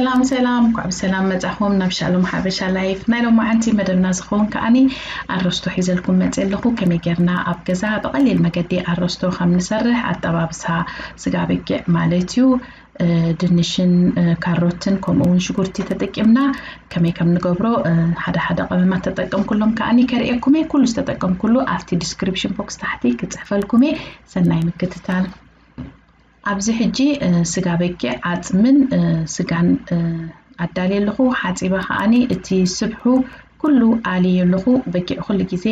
ሰላም ሰላም፣ እንኳዕ ብሰላም መጻኹም ናብ ሻሎም ሓበሻ ላይፍ። ናይ ሎማዓንቲ መደብና ዝኸውን ከኣኒ ኣረስቶ ሒዘልኩም መጽእ ኣለኹ። ከመይ ጌርና ኣብ ገዛ ብቐሊል መገዲ ኣረስቶ ከም ንሰርሕ ኣጠባብሳ ስጋ በጊዕ ማለት እዩ። ድንሽን ካሮትን ከምኡ እውን ሽጉርቲ ተጠቂምና ከመይ ከም ንገብሮ ሓደ ሓደ ቀመማት ተጠቀምኩሎም ከኣኒ ከርእየኩም እየ። ኩሉ ዝተጠቀምኩሉ ኣብቲ ዲስክሪፕሽን ቦክስ ታሕቲ ክፅሕፈልኩም እየ። ሰናይ ምክትታል። ኣብዚ ሕጂ ስጋ በጊዕ ዓፅምን ስጋን ኣዳልየ ኣለኹ። ሓፂበ ከዓኒ እቲ ስብሑ ኩሉ ኣልየ ኣለኹ። በጊዕ ኩሉ ግዜ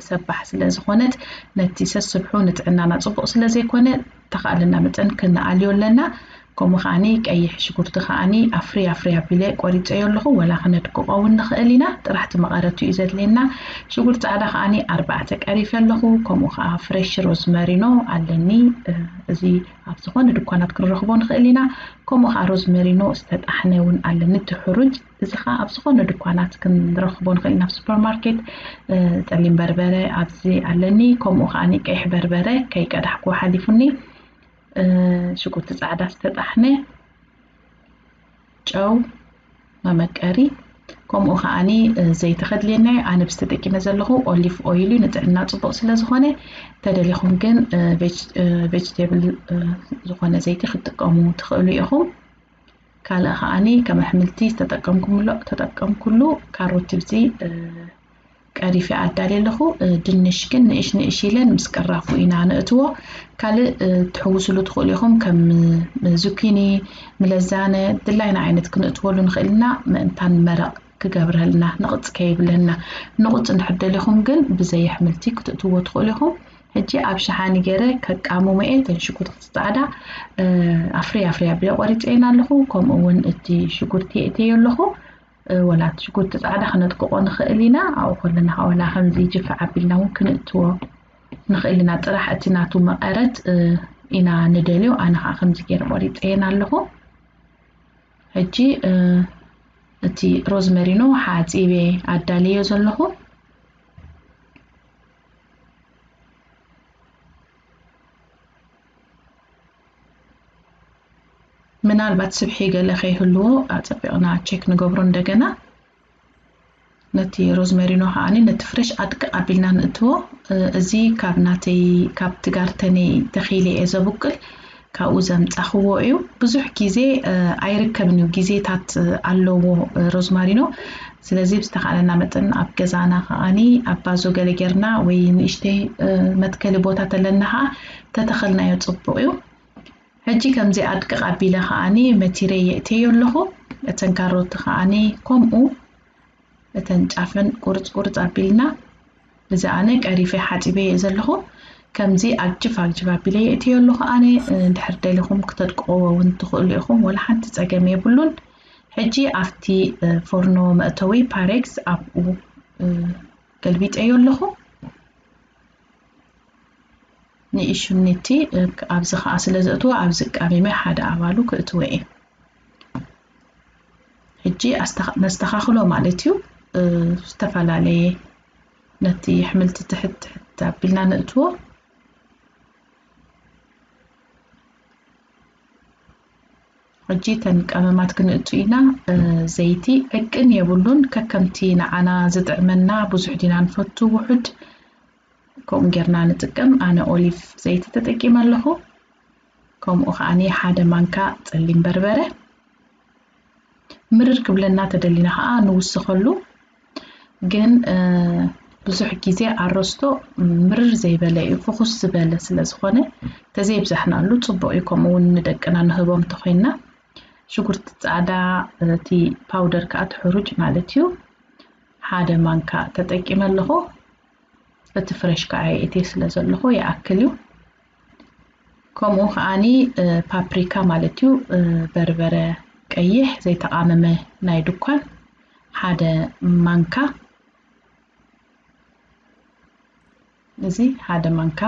ሰባሕ ስለ ዝኾነት ነቲ ሰስብሑ ንጥዕናና ፅቡቕ ስለ ዘይኮነ ተኻእለና መጠን ክንኣልዮ ኣለና። ከምኡ ከዓኒ ቀይሕ ሽጉርቲ ከዓኒ ኣፍሪ ኣፍሪ ኣቢለ ቆሪፀዮ ኣለኹ። ወላ ክነድቅቆ እውን ንኽእል ኢና። ጥራሕቲ መቐረቱ እዩ ዘድልየና። ሽጉርቲ ፃዕዳ ከዓኒ ኣርባዕተ ቀሪፈ ኣለኹ። ከምኡ ከዓ ፍሬሽ ሮዝመሪኖ ኣለኒ። እዚ ኣብ ዝኾነ ድኳናት ክንረኽቦ ንኽእል ኢና። ከምኡ ከዓ ሮዝመሪኖ ዝተጣሕነ እውን ኣለኒ፣ እቲ ሕሩጭ። እዚ ከዓ ኣብ ዝኾነ ድኳናት ክንረኽቦ ንኽእል ኢና፣ ኣብ ሱፐርማርኬት። ጸሊም በርበረ ኣብዚ ኣለኒ። ከምኡ ከዓኒ ቀይሕ በርበረ ከይቀዳሕኩ ሓሊፉኒ። ሽጉርቲ ፃዕዳ ዝተጣሕነ፣ ጨው፣ መመቀሪ፣ ከምኡ ከዓኒ ዘይቲ ከድልየና እዩ። ኣነ ብዚ ተጠቂመ ዘለኹ ኦሊቭ ኦይል እዩ፣ ንጥዕና ፅቡቕ ስለ ዝኾነ። ተደሊኹም ግን ቬጅቴብል ዝኾነ ዘይቲ ክትጥቀሙ ትኽእሉ ኢኹም። ካልእ ከዓኒ ከም ኣሕምልቲ ዝተጠቀምኩምሎ ተጠቀምኩሉ ካሮት ብዚ ቀሪፈ ኣዳልየ ኣለኹ። ድንሽ ግን ንእሽ ንእሽ ኢለን ምስ ቅራፉ ኢና ንእትዎ። ካልእ ትሕውስሉ ትኽእሉ ኢኹም፣ ከም ዙኪኒ፣ ምለዛነ፣ ድላይና ዓይነት ክንእትወሉ ንኽእል ኢና። ምእንታን መረቕ ክገብረልና፣ ንቕፅ ከይብለና። ንቕፅ እንድሕር ደሊኹም ግን ብዘይ ኣሕምልቲ ክትእትዎ ትኽእሉ ኢኹም። ሕጂ ኣብ ሸሓኒ ገይረ ከቃምሞ እየ። እተን ሽጉርቲ ፃዕዳ ኣፍሪ ኣፍሪ ኣቢለ ቆሪፀየን ኣለኹ። ከምኡ እውን እቲ ሽጉርቲ የእተዮ ኣለኹ። ወላ እቲ ሽጉርቲ ፃዕዳ ክነጥቅቆ ንኽእል ኢና። ኣብኡ ከለና ከዓ ወላ ከምዚ ጅፍዕ ኣቢልና እውን ክንእትዎ ንኽእል ኢና። ጥራሕ እቲ ናቱ መቐረት ኢና ንደልዮ። ኣነ ከዓ ከምዚ ገይረ ቆሪፀየን ኣለኹ። ሕጂ እቲ ሮዝመሪኖ ሓፂበ ኣዳልዮ ዘለኹ። ምናልባት ስብሒ ገለ ከይህልዎ ኣጸቢቕና ቸክ ንገብሮ እንደገና። ነቲ ሮዝመሪኖ ከዓኒ ነቲ ፍሬሽ ኣድቅቕ ኣቢልና ንእትዎ። እዚ ካብ ናተይ፣ ካብቲ ጋርተነይ ተኺለ እየ ዘብቅል፣ ካብኡ ዘምጻኽዎ እዩ። ብዙሕ ግዜ ኣይርከብን እዩ፣ ግዜታት ኣለዎ ሮዝማሪኖ። ስለዚ ብዝተኻእለና መጠን ኣብ ገዛና ከዓኒ ኣብ ባዞ ገለ ጌርና ወይ ንእሽተይ መትከሊ ቦታ ተለና ከዓ ተተኸልናዮ ጽቡቕ እዩ። ሕጂ ከምዚ ኣድቅቕ ኣቢለ ከዓኒ መቲረ የእተዮ ኣለኹ። እተን ካሮት ከዓኒ ከምኡ እተን ጫፈን ቁርጽ ቁርጽ ኣቢልና፣ እዚ ኣነ ቀሪፈ ሓጺበ እየ ዘለኹ። ከምዚ ኣግጅፍ ኣግጅፍ ኣቢለ የእትዮ ኣለኹ። ኣነ እንድሕር ደሊኹም ክተድቅቕዎ እውን ትኽእሉ ኢኹም፣ ወላ ሓንቲ ጸገም የብሉን። ሕጂ ኣብቲ ፎርኖ መእተዊ ፓሬክስ ኣብኡ ገልቢጠዮ ኣለኹ። ንእሽኒቲ ኣብዚ ከዓ ስለ ዘእትዎ ኣብዚ ቃሚመ ሓደ ኣባሉ ክእትዎ እየ። ሕጂ ነስተኻኽሎ ማለት እዩ። ዝተፈላለየ ነቲ ኣሕምልቲ ትሕት ትሕት ኣቢልና ነእትዎ። ሕጂ እተን ቀመማት ክንእቱ ኢና። ዘይቲ ዕቅን የብሉን፣ ከከምቲ ንዓና ዝጥዕመና ብዙሕ ዲና ንፈቱ ውሑድ ከምኡ ጌርና ንጥቀም። ኣነ ኦሊቭ ዘይቲ ተጠቂመ ኣለኹ። ከምኡ ከዓኒ ሓደ ማንካ ጸሊም በርበረ። ምርር ክብለና ተደሊና ከኣ ንውስኸሉ። ግን ብዙሕ ግዜ ኣረስቶ ምርር ዘይበለ እዩ፣ ፍኹስ ዝበለ ስለ ዝኾነ ተዘይብዛሕናሉ ጽቡቕ እዩ። ከምኡ እውን ንደቅና ንህቦም እንተኾይንና ሽጉርቲ ጻዕዳ፣ እቲ ፓውደር ከኣ እቲ ሕሩጭ ማለት እዩ፣ ሓደ ማንካ ተጠቂመ ኣለኹ። እቲ ፍረሽ ከኣ የእትየ ስለ ዘለኹ ይኣክል እዩ። ከምኡ ከዓኒ ፓፕሪካ ማለት እዩ፣ በርበረ ቀይሕ ዘይተቃመመ ናይ ድኳን ሓደ ማንካ። እዚ ሓደ ማንካ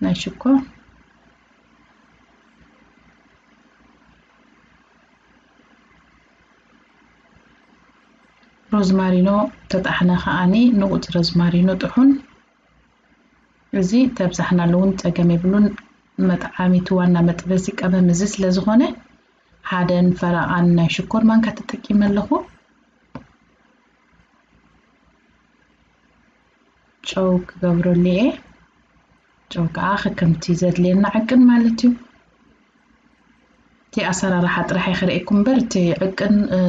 ናይ ሽኮር። ሮዝማሪኖ ተጣሕነ ከዓኒ ንቑጽ ሮዝማሪኖ ጥሑን። እዚ ተብዛሕናሉ እውን ጸገም የብሉን። መጥዓሚቱ ዋና መጥበሲ ቀመም እዚ ስለ ዝኾነ ሓደን ፈረቓን ናይ ሽኮር ማንካ ተጠቂመ ኣለኹ። ጨው ክገብረሉ እየ። ጨው ከዓ ከከምቲ ዘድልየና ዕቅን ማለት እዩ። እቲ ኣሰራርሓ ጥራሕ እየ ክርእየኩም እምበር፣ እቲ ዕቅን፣ እ፣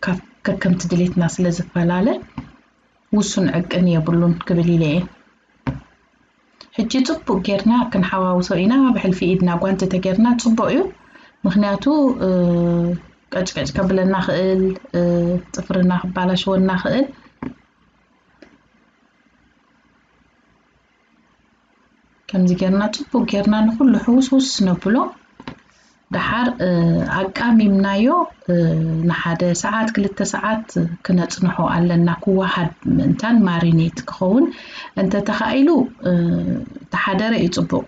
ካብ ከከምቲ ድሌትና ስለ ዝፈላለ፣ ውሱን ዕቅን የብሉን ክብል ኢለ እየ። ሕጂ ጽቡቕ ጌርና ክንሓዋውሶ ኢና። ብሕልፊ ኢድና ጓንቲ ተጌርና ጽቡቕ እዩ። ምኽንያቱ፣ እ፣ ቀጭቀጭ ከብለና ኽእል፣ እ፣ ጽፍርና ክባላሽወና ኽእል። ከምዚ ጌርና ጽቡቕ ጌርና ንኹሉ ሕውስውስ ነብሎ። ደሓር፣ እ፣ ኣቃሚምናዮ፣ እ፣ ንሓደ ሰዓት፣ ክልተ ሰዓት ክነጽንሖ ኣለና፣ ክወሃድ ምእንታን ማሪኔት ክኸውን። እንተ ተኻኢሉ፣ እ፣ ተሓደረ እዩ ጽቡቕ፣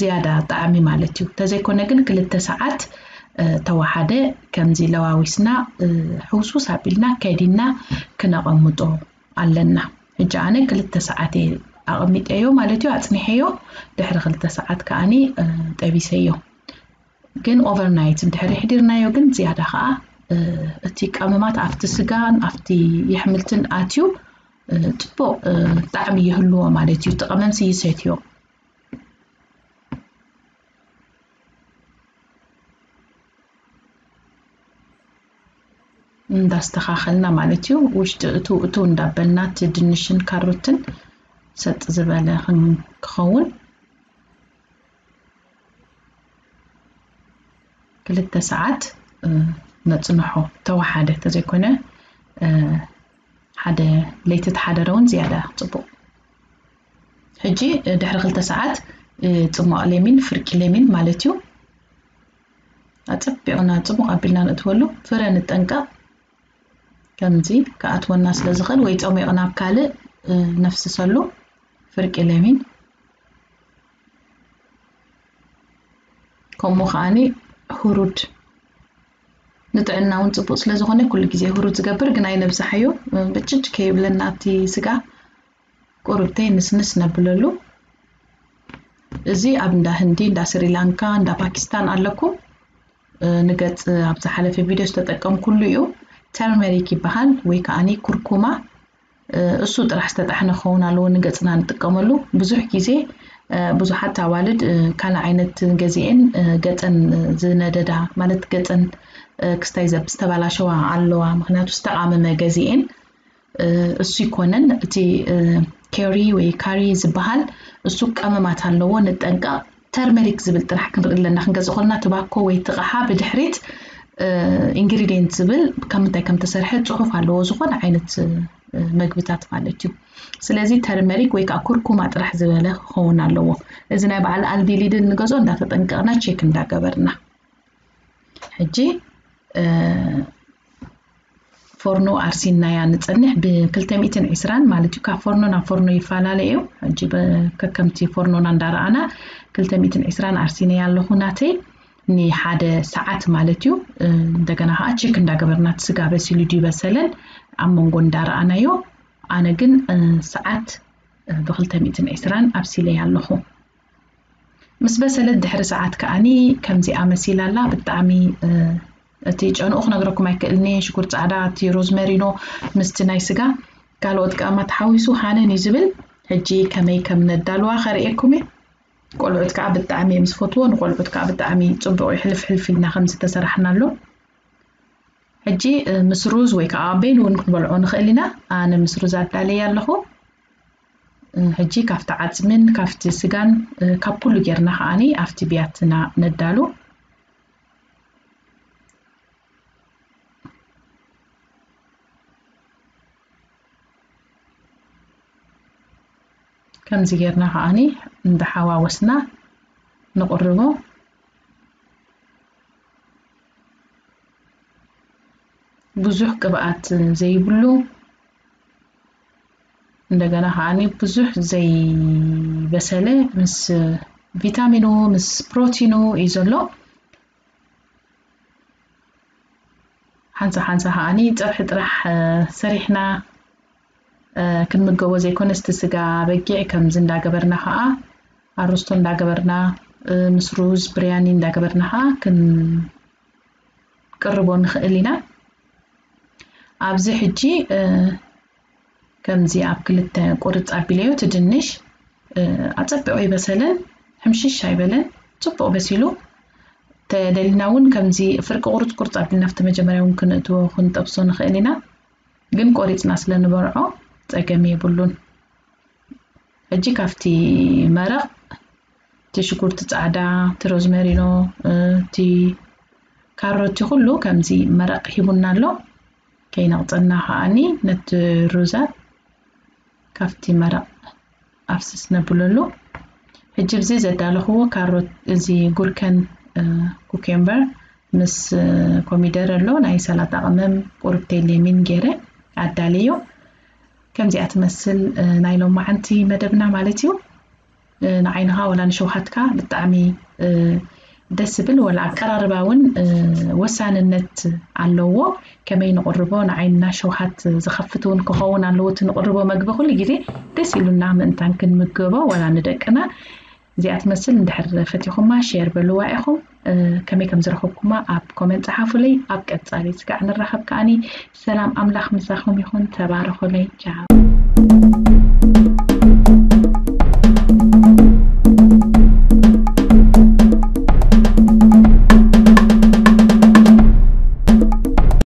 ዝያዳ ጣዕሚ ማለት እዩ። ተዘይኮነ ግን ክልተ ሰዓት፣ እ፣ ተወሓደ ከምዚ ለዋዊስና፣ እ፣ ሕውስውስ ኣቢልና ከዲና ክነቐምጦ ኣለና። ሕጂ ኣነ ክልተ ሰዓት እየ ኣቐሚጠዮ ማለት እዩ፣ ኣጽኒሐዮ። ድሕሪ ክልተ ሰዓት ከኣኒ፣ እ፣ ጠቢሰዮ። ግን ኦቨርናይት እንድሕር የሕዲርናዮ ግን ዝያዳ ከኣ፣ እ፣ እቲ ቀመማት ኣብቲ ስጋን ኣብቲ የሕምልትን ኣትዩ፣ እ፣ ጽቡቕ፣ እ፣ ጣዕሚ ይህልዎ ማለት እዩ። እቲ ቀመምሲ ይሰትዮ። እንዳስተኻኸልና ማለት እዩ። ውሽጢ እቱ እቱ እንዳበልና እቲ ድንሽን ካሮትን ሰጥ ዝበለ ክን-፣ ክኸውን ክልተ ሰዓት፣ እ፣ ነጽንሖ። ተወሓደ ተዘይኮነ፣ እ፣ ሓደ ለይቲ ተሓደረ እውን ዝያዳ ጽቡቕ። ሕጂ፣ እ፣ ድሕሪ ክልተ ሰዓት፣ እ፣ ጽሟቕ ሌሚን፣ ፍርቂ ሌሚን ማለት እዩ። ኣጸቢቕና ጽቡቕ ኣቢልና ንእትወሉ። ፍረ ንጠንቀቕ። ከምዚ ክኣትወና ስለ ዝኽእል ወይ ጸሚቕና ኣብ ካልእ፣ እ፣ ነፍስሰሉ። ፍርቂ ሌሚን። ከምኡ ከኣኒ ሁሩድ። ንጥዕና እውን ጽቡቕ ስለ ዝኾነ ኩሉ ግዜ ሁሩድ ዝገብር፣ ግን ኣይነብዝሓዮ። እ፣ ብጭጭ ከይብለና ኣብቲ ስጋ ቁሩብተይ ንስንስ ነብለሉ። እዚ ኣብ እንዳ ህንዲ፣ እንዳ ስሪላንካ፣ እንዳ ፓኪስታን ኣለኩም። እ፣ ንገጽ ኣብ ዝሓለፈ ቪድዮ ዝተጠቀምኩሉ እዩ። ተርመሪክ ይበሃል ወይ ከኣኒ ኩርኩማ። እ፣ እሱ ጥራሕ ዝተጣሕነ ክኸውን ኣለዎ ንገጽና ንጥቀመሉ። ብዙሕ ግዜ፣ እ፣ ብዙሓት ኣዋልድ፣ እ፣ ካልእ ዓይነት ገዚኤን፣ እ፣ ገጸን ዝነደዳ፣ ማለት ገጸን፣ እ፣ ክስታይ ዘብ-፣ ዝተባላሸዋ ኣለዋ። ምኽንያቱ ዝተቓመመ ገዚኤን እ፣ እሱ ይኮነን። እቲ፣ እ፣ ኬሪ ወይ ካሪ ዝበሃል እሱ ቀመማት ኣለዎ፣ ንጠንቀቕ። ተርመሪክ ዝብል ጥራሕ ክንርኢ ኣለና። ክንገዝእ ከለና ትባኮ ወይ ትቕሓ ብድሕሪት፣ እ፣ ኢንግሪዲየንት ዝብል ካብ ምንታይ ከም ተሰርሐ ጽሑፍ ኣለዎ፣ ዝኾነ ዓይነት፣ እ፣ መግብታት ማለት እዩ። ስለዚ ተርመሪክ ወይ ከዓ ኩርኩማ ጥራሕ ዝበለ ክኸውን ኣለዎ። እዚ ናይ በዓል ኣልዲ ሊድል ንገዝኦ እንዳተጠንቀቕና ቼክ እንዳገበርና። ሕጂ፣ እ፣ ፎርኖ ኣርሲናያ ንጸንሕ። ብ ክልተ ሚእትን ዕስራን ማለት እዩ። ካብ ፎርኖ ናብ ፎርኖ ይፈላለ እዩ። ሕጂ ብ-፣ ከከምቲ ፎርኖና እንዳረኣና ክልተ ሚእትን ዕስራን ኣርሲናያ ኣለኹ ናተይ ንሓደ ሰዓት ማለት እዩ። እ፣ እንደገና ከዓ ቼክ እንዳገበርና እቲ ስጋ በሲሉ ድዩ በሰለን ኣብ መንጎ እንዳረኣናዮ። ኣነ ግን፣ እ፣ ሰዓት፣ እ፣ ብ ክልተ ሚእትን ዕስራን ኣብሲለያ ኣለኹ። ምስ በሰለት ድሕሪ ሰዓት ከኣኒ ከምዚኣ መሲላ ኣላ። ብጣዕሚ፣ እ፣ እቲ ጨንኡ ክነግረኩም ኣይክእልን እየ። ሽጉር ጻዕዳ፣ እቲ ሮዝመሪኖ ምስቲ ናይ ስጋ ካልኦት ቀመማት ተሓዊሱ ሃነን እዩ ዝብል። ሕጂ ከመይ ከም ነዳልዋ ከርእየኩም እየ። ቆልዑት ከኣ ብጣዕሚ እዮም ዝፈትዎ። ንቆልዑት ከኣ ብጣዕሚ ጽቡቕ እዩ። ሕልፍ ሕልፍ ኢልና ከም ዝተሰራሕናሉ። ሕጂ፣ እ፣ ምስ ሩዝ ወይ ከኣ በይኑ እውን ክንበልዖ ንኽእል ኢና። ኣነ ምስ ሩዝ ኣዳልየ ኣለኹ። እ፣ ሕጂ ካብቲ ዓጽምን ካብቲ ስጋን፣ እ፣ ካብ ኩሉ ጌርና ከኣኒ ኣብቲ ብያትና ነዳሉ። ከምዚ ጌርና ከኣኒ እንዳሓዋወስና ንቕርቦ። ብዙሕ ቅብኣት ዘይብሉ፣ እንደገና ከኣኒ ብዙሕ ዘይበሰለ፣ ምስ ቪታሚኑ ምስ ፕሮቲኑ እዩ ዘሎ። ሓንሳ ሓንሳ ከኣኒ ጸብሒ ጥራሕ፣ እ፣ ሰሪሕና፣ እ፣ ክንምገቦ ዘይኮነስ እቲ ስጋ በጊዕ ከምዚ እንዳገበርና ከኣ ኣርስቶ እንዳገበርና፣ እ፣ ምስ ሩዝ ብርያኒ እንዳገበርና ከኣ ክን-፣ ክንቅርቦ ንኽእል ኢና። ኣብዚ ሕጂ ከምዚ ኣብ ክልተ ቁርፅ ኣቢለዮ፣ እቲ ድንሽ ኣፀቢቑ ኣይበሰለን፣ ሕምሽሽ ኣይበለን፣ ፅቡቕ በሲሉ። ተደሊና እውን ከምዚ ፍርቂ ቁርፅ ቁርፅ ኣቢልና ኣብቲ መጀመርያ እውን ክንእትዎ ክንጠብሶ ንኽእል ኢና። ግን ቆሪፅና ስለ ንበልዖ ፀገም የብሉን። ሕጂ ካብቲ መረቕ እቲ ሽጉርቲ ፃዕዳ፣ እቲ ሮዝመሪኖ፣ እቲ ካሮት ኩሉ ከምዚ መረቕ ሂቡና ኣሎ። ከይነቕፀልና ከዓኒ ነቲ ሩዛት ካብቲ መረቕ ኣፍስስ ነብለሉ። ሕጂ ብዚ ዘዳለኽዎ ካሮት፣ እዚ ጉርከን፣ ኩኬምበር ምስ ኮሚደረ ኣሎ፣ ናይ ሰላጣ ቅመም፣ ቁርብቴ ሌሚን ገይረ ኣዳልዮ። ከምዚኣ ትመስል ናይ ሎማዓንቲ መደብና ማለት እዩ። ንዓይንኻ ወላ ንሸውሃትካ ብጣዕሚ ደስ ዝብል፣ ወላ ኣቀራርባ እውን ወሳንነት ኣለዎ። ከመይ ንቕርቦ፣ ንዓይንና ሸውሃት ዝኸፍት እውን ክኸውን ኣለዎ። እቲ ንቕርቦ መግቢ ኩሉ ግዜ ደስ ኢሉና ምእንታን ክንምገቦ፣ ወላ ንደቅና። እዚኣ ትመስል። እንድሕር ፈቲኹማ ሼር በልዋ ኢኹም። ከመይ ከም ዝረኸብኩማ ኣብ ኮመንት ጸሓፉለይ። ኣብ ቀጻሊ ስጋዕ ንራኸብ ከኣኒ። ሰላም ኣምላኽ ምሳኹም ይኹን። ተባረኹለይ። ቻው።